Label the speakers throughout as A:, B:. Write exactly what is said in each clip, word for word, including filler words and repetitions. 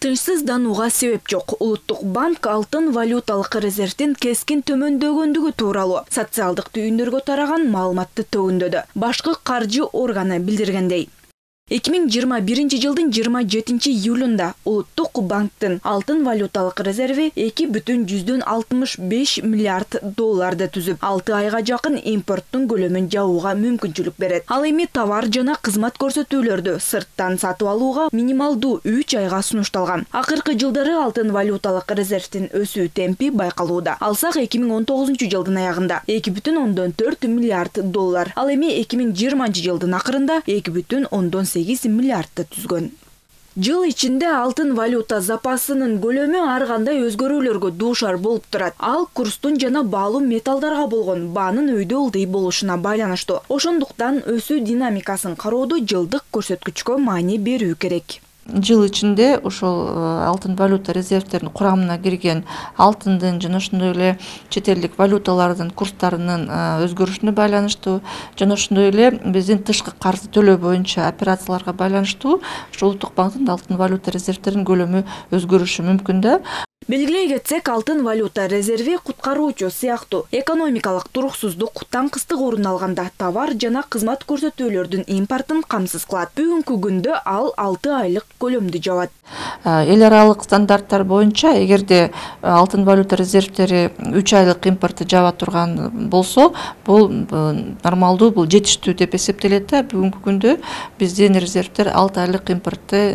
A: Тынчсызданууга себеп жок. Улуттук банк алтын валюталык резервдин кескин төмөндөгөндүгү тууралуу социалдык түйүндөргө тараган маалыматты төгүндөдү. Башкы каржы органы билдиргендей, эки миң жыйырма биринчи жылдын жыйырма жетинчи июлунда Улуттук банктын алтын валюталык резерви эки бүтүн жүздөн алтымыш беш миллиард долларды түзүп, алты айга жакын импорттун көлөмүн жабууга мүмкүнчүлүк берет. Ал эми товар жана кызмат көрсөтүүлөрдү сырттан сатып алууга минималдуу үч айга сунушталган. Акыркы жылдары алтын валюталык резервдин өсүү темпи байкалууда. Алсак эки миң он тогузунчу жылдын аягында эки бүтүн ондон төрт миллиард доллар, ал эми эки миң жыйырманчы жылдын акырында эки бүтүн ондон сегиз миллиардты түзгөн. Жыл ичинде алтын валюта запасынын көлөмү ар кандай өзгөрүүлөргө дуушар болуп турат. Ал курстун жана баалуу металлдарга болгон баанын өйдө ылдый болушуна байланыштуу. Ошондуктан өсүү динамикасын кароодо жылдык көрсөткүчкө маани берүү керек.
B: Жыл ичинде ошол алтын валюта резервдеринин курамына кирген алтындын жана ошондой эле чет элдик валюталардын курстарынын өзгөрүшүнө байланыштуу жана ошондой эле биздин тышкы карызды төлөө боюнча операцияларга байланыштуу ошол Улуттук банктын алтын валюта резервдеринин көлөмү өзгөрүшү мүмкүн да.
A: Белгилей кетсек, алтын валюта резерви куткаруучу сыяктуу экономикалык туруксуздук, таңкыстык орун алганда товар жана кызмат көрсөтүүлөрдүн импортун камсыз кылат. Бүгүнкү күндө ал алты айлык көлөмдү жабат.
B: Эл аралык стандарттар боюнча эгерде алтын валюта резервдери үч айлык импорту жаба турган болсо, бул нормалдуу, бул жетиштүү деп эсептелет да. Бүгүнкү күндө биздин резервдер алты айлык импортты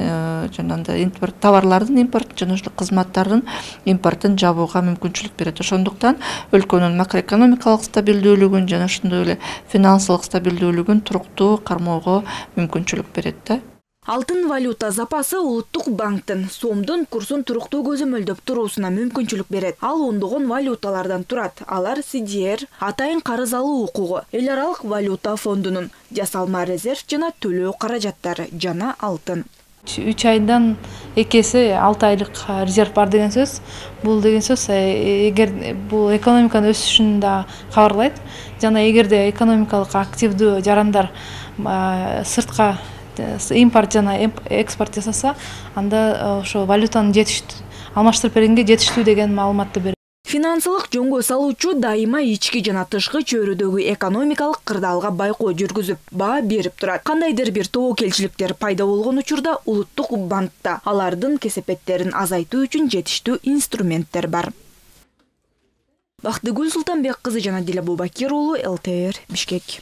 B: жанагындай импорт товарлардын импортун жана ошол кызматтардын импортун жабууга мүмкүнчүлүк берет. Ошондуктан өлкөнүн макроэкономикалык стабилдүүлүгүн жана ошондой эле финансылык стабилдүүлүгүн туруктуу кармоого мүмкүнчүлүк берет да.
A: Алтын валюта запасы Улуттук банктын сомдун курсун туруктуу көзөмөлдөп туруусуна мүмкүнчүлүк берет. Ал ондогон валюталардан турат. Алар си ди эр, атайын карыз алуу укугу, эл аралык валюта фондунун, жасалма резерв жана төлөө каражаттары жана алтын.
C: үч айдан эки эсе алты айлык резерв бар деген сөз. Бул деген сөз эгер бул экономиканын өсүшүн да кабарлайт. Жана эгерде экономикалык активдүү жарандар сыртка импорт жана экспорт жасаса, анда ошо валютанын жетиштүү, алмаштырып бергенге жетиштүү деген маалыматты берет.
A: Финансылык жөнгө салуучу дайыма ички жана тышкы чөйрөдөгү экономикалык кырдаалга байкоо жүргүзүп, баа берип турат. Кандайдыр бир тобокелчиликтер пайда болгон учурда Улуттук банкта алардын кесепеттерин азайтуу үчүн жетиштүү инструменттер бар. Бактыгүл Султанбек кызы жана Диле Бубакир уулу, эл тэ эр, Бишкек.